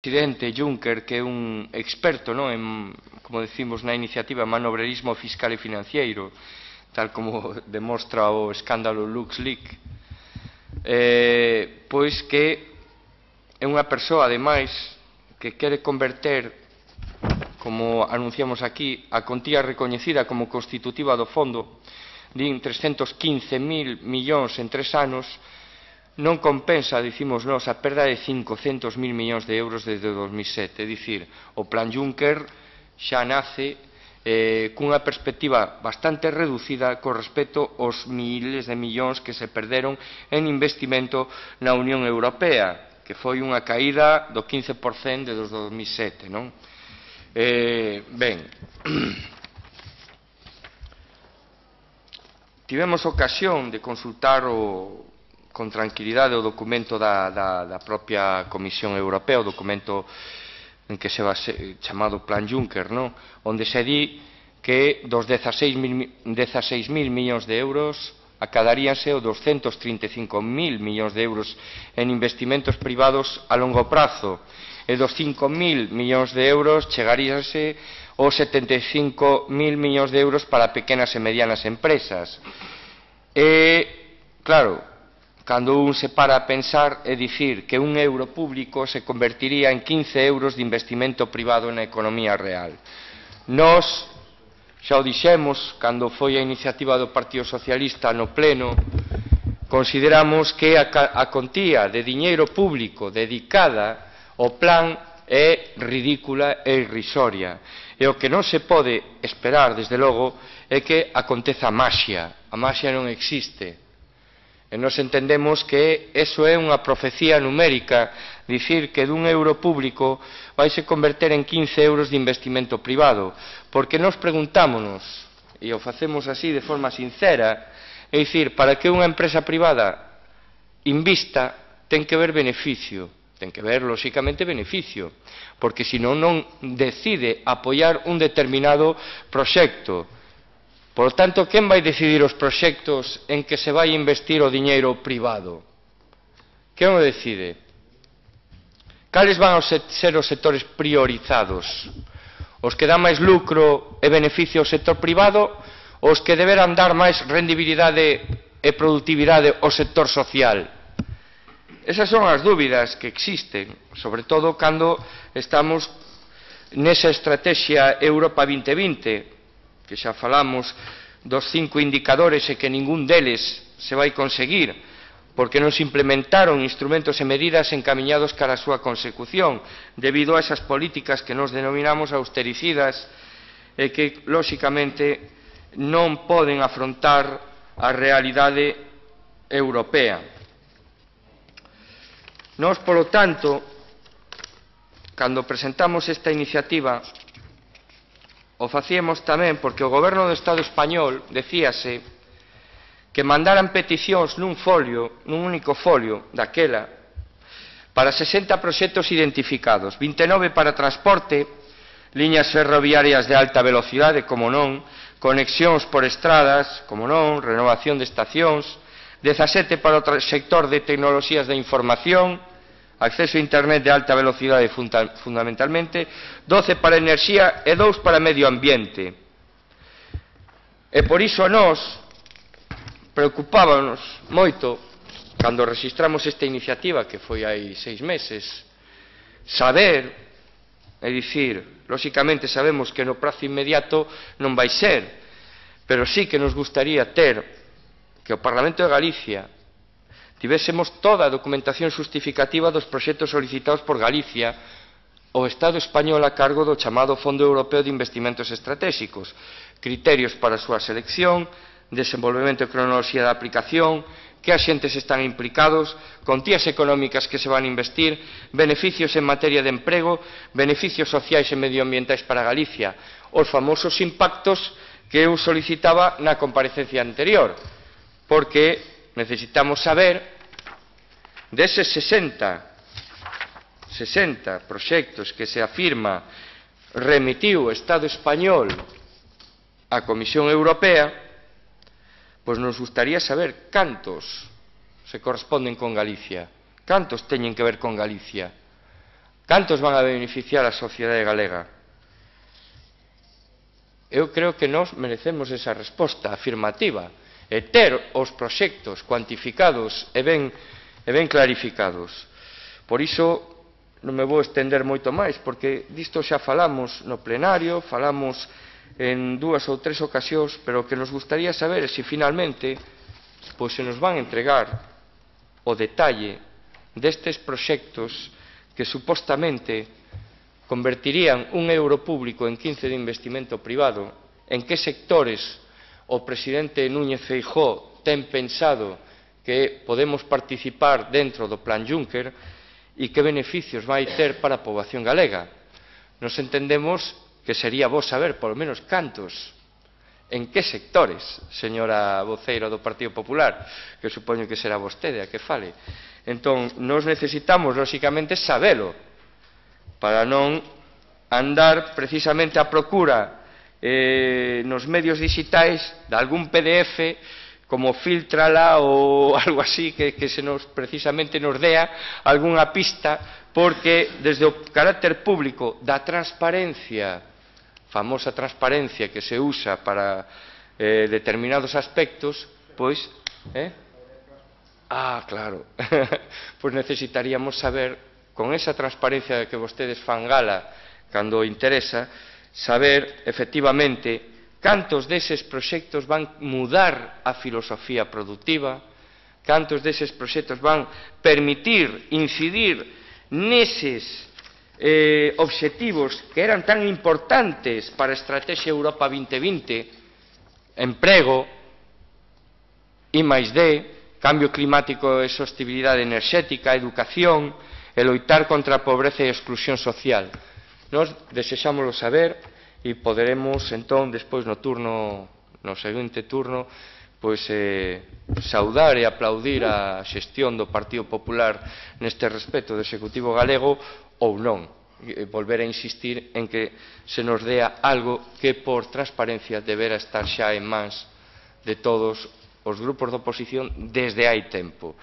presidente Juncker, que é un experto, non, en, como decimos na iniciativa, manobrerismo fiscal e financiero, tal como demostra o escándalo LuxLeaks, pois que é unha persoa, ademais, que quere converter, como anunciamos aquí, a contía recoñecida como constitutiva do fondo, din 315.000 millóns en 3 anos, non compensa, dicimos nós, a perda de 500.000 millóns de euros desde 2007. É dicir, o plan Juncker xa nace cunha perspectiva bastante reducida con respecto aos miles de millóns que se perderon en investimento na Unión Europea, que foi unha caída do 15% desde 2007, non? Ben, tivemos ocasión de consultar con tranquilidade o documento da propia Comisión Europea, o documento en que se va chamado Plan Juncker, non? Onde se di que dos 16.000 millóns de euros acadaríanse o 235.000 millóns de euros en investimentos privados a longo prazo e dos 5.000 millóns de euros chegaríanse os 75.000 millóns de euros para pequenas e medianas empresas. Claro, cando un se para a pensar é dicir que un euro público se convertiría en 15 euros de investimento privado na economía real. Nós xa o dixemos cando foi a iniciativa do Partido Socialista no pleno, consideramos que a contía de diñeiro público dedicada ao plan é ridícula e irrisoria. E o que non se pode esperar, desde logo, é que aconteza a maxia. A maxia non existe. E nos entendemos que eso é unha profecía numérica, dicir que dun euro público vai se converter en 15 euros de investimento privado, porque nos preguntámonos, e o facemos así de forma sincera, é dicir, para que unha empresa privada invista ten que ver beneficio, ten que ver, lóxicamente, beneficio, porque senón non decide apoiar un determinado proxecto. Por lo tanto, quen vai decidir os proxectos en que se vai investir o diñeiro privado? Quen o decide? Cales van a ser os sectores priorizados? Os que dan máis lucro e beneficio ao sector privado ou os que deberán dar máis rendibilidade e productividade ao sector social? Esas son as dúbidas que existen, sobre todo cando estamos nesa estrategia Europa 2020, que xa falamos dos 5 indicadores e que ningún deles se vai conseguir, porque non se implementaron instrumentos e medidas encamiñados cara a súa consecución, debido a esas políticas que nos denominamos austericidas e que, lóxicamente, non poden afrontar a realidade europea. Nós, polo tanto, cando presentamos esta iniciativa, o facíamos tamén porque o goberno do Estado español decíase que mandaran peticións nun único folio daquela para 60 proxectos identificados, 29 para transporte, liñas ferroviarias de alta velocidade, como non, conexións por estradas, como non, renovación de estacións, 17 para o sector de tecnoloxías da información, acceso a internet de alta velocidade fundamentalmente, 12 para enerxía e 2 para medio ambiente. E por iso nós preocupábanos moito, cando registramos esta iniciativa, que foi hai 6 meses, saber, é dicir, lóxicamente sabemos que no prazo inmediato non vai ser, pero sí que nos gustaría ter que o Parlamento de Galicia tivésemos toda a documentación xustificativa dos proxectos solicitados por Galicia ao Estado español a cargo do chamado Fondo Europeo de Investimentos Estratégicos, criterios para a súa selección, desenvolvemento e cronoloxía da aplicación, que axentes están implicados, contías económicas que se van a investir, beneficios en materia de emprego, beneficios sociais e medioambientais para Galicia, os famosos impactos que eu solicitaba na comparecencia anterior, porque necesitamos saber deses 60 proxectos que se afirma remitiu o Estado español á Comisión Europea, pois nos gustaría saber cantos se corresponden con Galicia, cantos teñen que ver con Galicia, Cantos van a beneficiar a sociedade galega? Eu creo que nós merecemos esa resposta afirmativa e ter os proxectos cuantificados e ben clarificados. Por iso non me vou estender moito máis, porque disto xa falamos no plenario, falamos en 2 ou 3 ocasións, pero o que nos gustaría saber é se finalmente pois se nos van entregar o detalle destes proxectos que supostamente convertirían un euro público en 15 de investimento privado, en que sectores o presidente Núñez Feijóo ten pensado que podemos participar dentro do Plan Juncker e que beneficios vai ter para a poboación galega. Nos entendemos que sería bo saber, polo menos, cantos, en que sectores, señora voceira do Partido Popular, que supoño que será vostede a que fale. Entón, nos necesitamos, lóxicamente, sabelo, para non andar precisamente a procura nos medios digitais de algún PDF como Filtrala ou algo así que precisamente nos dea algunha pista, porque desde o carácter público da transparencia, famosa transparencia que se usa para determinados aspectos, pois, claro, pois necesitaríamos saber, con esa transparencia que vostedes fan gala cando interesa, saber, efectivamente, cantos deses proxectos van mudar a filosofía productiva, cantos deses proxectos van permitir incidir neses obxectivos que eran tan importantes para a Estrategia Europa 2020, emprego, I+D, cambio climático e sostibilidade enerxética, educación, e loitar contra a pobreza e a exclusión social. Nós desexámoslo saber e poderemos, entón, despois no seguinte turno, pois saudar e aplaudir a xestión do Partido Popular neste respecto do Executivo galego ou non, volver a insistir en que se nos dea algo que por transparencia debera estar xa en mans de todos os grupos de oposición desde hai tempo.